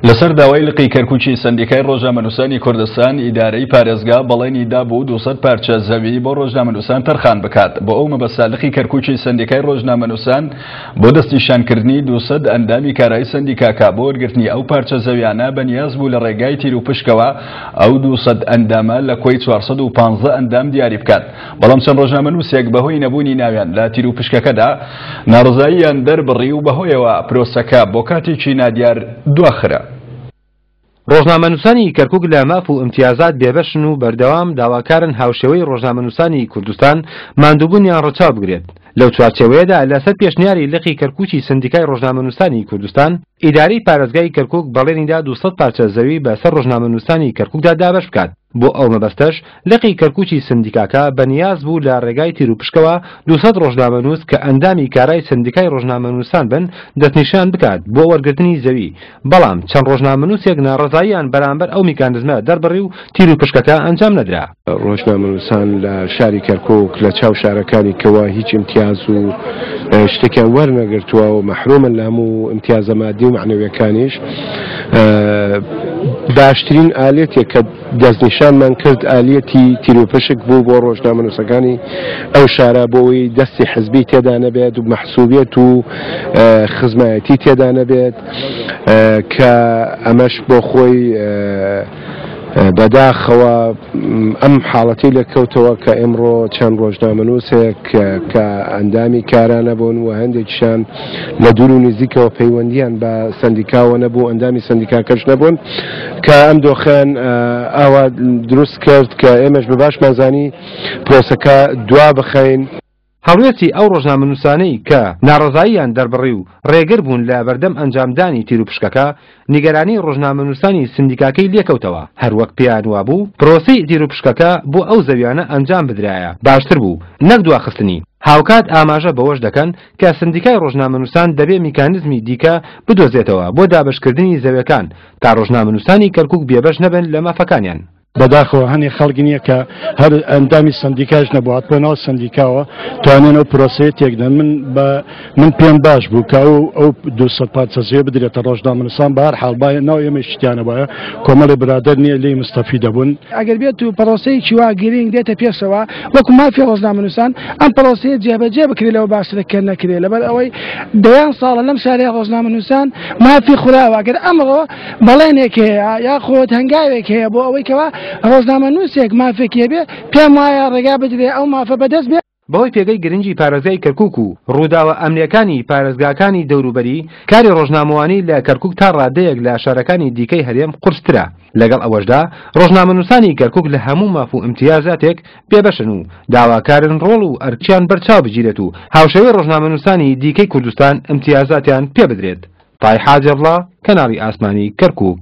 لەسەر داوای لقی کەرکوکی سەندیکای ڕۆژنامەنووسانی کوردستان، ئیدارەی پارێزگا بەڵێنی دابوو 200 پارچە زەوی بۆ ڕۆژنامەنووسان تەرخان بکات. بۆ ئەو مەبەستە لقی کەرکوکی سەندیکای ڕۆژنامەنووسان بۆ دەستنیشانکردنی 200 ئەندامی کارای سەندیکاکە بۆ وەرگرتنی ئەو پارچە زەویانە بەنیاز بوو لە ڕێگای تیروپشکەوە ئەو 200 ئەندامە لە کۆی 415 ئەندام دیاری بکات. بەڵام چەند ڕۆژنامەنووسێک بەهۆی نەبوونی ناویان لە تیروپشکەکەدا ناڕەزاییان دەربڕی و بەهۆیەوە پرۆسەکە بۆ کاتێکی نادیار دواخرا. ڕۆژنامەنووسانی کەرکوک لە ماف و ئیمتیازات بێبەشن و بەردەوام داواکارن هاوشێوەی ڕۆژنامەنووسانی کوردستان ماندووبوونیان ڕەچاو بگرێت. لەو چوارچێوەیەدا لەسەر پێشنیاری لقی کەرکوکی سەندیکای ڕۆژنامەنووسانی کوردستان، ئیدارەی پارێزگای کەرکوک بەڵێنیدا 200 پارچە زەوی بەسەر ڕۆژنامەنووسانی کەرکوکدا دابەش بکات. بۆ ئەو مەبەستەش لقی کەرکوکی سندیکاکە بەنیاز بوو لە ڕێگای تیروپشکەوە 200 ڕۆژنامەنووس کە ئەندامی کارای سندیکای ڕۆژنامەنووسان بن دەستنیشان بکات بۆ وەرگرتنی زەوی، بەڵام چەند ڕۆژنامەنووسێک ناڕەزاییان بەرامبەر ئەو میکانزمە دەربڕی و تیروپشکەکە ئەنجام نەدرا. ڕۆژنامەنووسان لە شاری کەرکوک لە چاو شارەکانی کەوە هیچ ئیمتیاز و شتێکیان وەرنەگرتووە و مەحرومن لە هەموو ئیمتیازە مادی و مەعنەویەکانیش. باشترین ئالێتێک کە دەستنیشانمان کرد ئالیەتی تیروپشک بوو بۆ ڕۆژنامەنووسەکانی ئەو شارە بۆ ئەوەی دەستی حزبی تێدا نەبێت و مەحسوبیەت و خزمایەتی تێدا نەبێت کە ئەمەش بۆ خۆی بەداخەوە ئەم حاڵەتەی لێکەوتەوە کە ئێمڕۆ چەند ڕۆژنامەنووسێک کە ئەندامی کارا نەبوون و هەندێکیشان لە دوور و نزیکەوە پەیوەندیان بە سەندیکاوە نەبوو، ئەندامی سەندیکاکەش نەبوون، کە ئەم دۆخیان ئاوا دروست کرد کە ئێمەش بە باشمان زانی پرۆسەکە دوا بخەین. هەڵوێستی ئەو ڕۆژنامەنووسانەی کە ناڕەزاییان دەربڕی و ڕێگر بوون لە بەردەم ئەنجامدانی تیروپشکەکە، نیگەرانی ڕۆژنامەنووسانی سندیکاکەی لێکەوتەوە، هەروەک پێیان وابوو پرۆسەی تیروپشکەکە بۆ ئەو زەویانە ئەنجام بدرایە باشتر بوو نەک دواخستنی. هاوکات ئاماژە بەوەش دەکەن کە سندیکای ڕۆژنامەنووسان دەبێ میکانزمی دیکە بدۆزێتەوە بۆ دابەشکردنی زەویەکان تا ڕۆژنامەنووسانی کەرکوک بێبەش نەبن لە مافەکانیان. بەداخەوە هەنێ خەڵک نییە کە هەر ئەندامی سندیکاش نەبوو هاتبووە ناو سندیکاوە توانیان ئەو پرۆسەیە تێکدەن. من بە من پێم باش بوو کە ئەو ئەو 200 پارچە زەویە بدرێتە ڕۆژنامەنووسان، بە هەر حاڵ با ناو ئێمەیش شتیانە بایە کۆمەڵێ برادەر نییە لێی مستەفی دەبوون. ئەگەر بێت و پرۆسەیەکی وا گرینگ دێتە پێشەوە وەکو مافی ڕۆژنامەنووسان ئەم پرۆسەیە جێبەجێ بکرێت لەوە باشترە کە نەکرێت، لەبەر ئەوەی دەیان ساڵە لەم شارەی ڕۆژنامەنووسان مافی خوراوە. ئەگەر ئەمڕۆ بەڵێنێک هەیە یاخود هەنگاوێک هەیە بۆ ئەوەی کەوا ڕۆژنامەنووسێک مافێکی هەبێ، پێم وایە ڕێگا بدرێ ئەو مافە بەدەست بێ. بەهۆی پێگەی گرنگی پارێزگای کەرکوک و ڕووداوە ئەمنییەکانی پارێزگاکانی دەوروبەری، کاری ڕۆژنامەوانی لە کەرکوک تا ڕادەیەک لە شارەکانی دیکەی هەرێم قورسترە، لەگەڵ ئەوەشدا ڕۆژنامەنووسانی کەرکوک لە هەموو ماف و ئیمتیازاتێک بێبەشن و داواکارن ڕۆڵ و ئەرکیان بەرچاو بگیرێت و هاوشێوەی ڕۆژنامەنووسانی دیکەی کوردستان ئیمتیازاتیان پێبدرێت. تای حاجی عەبدوڵا، کەناڵی ئاسمانی کەرکوک.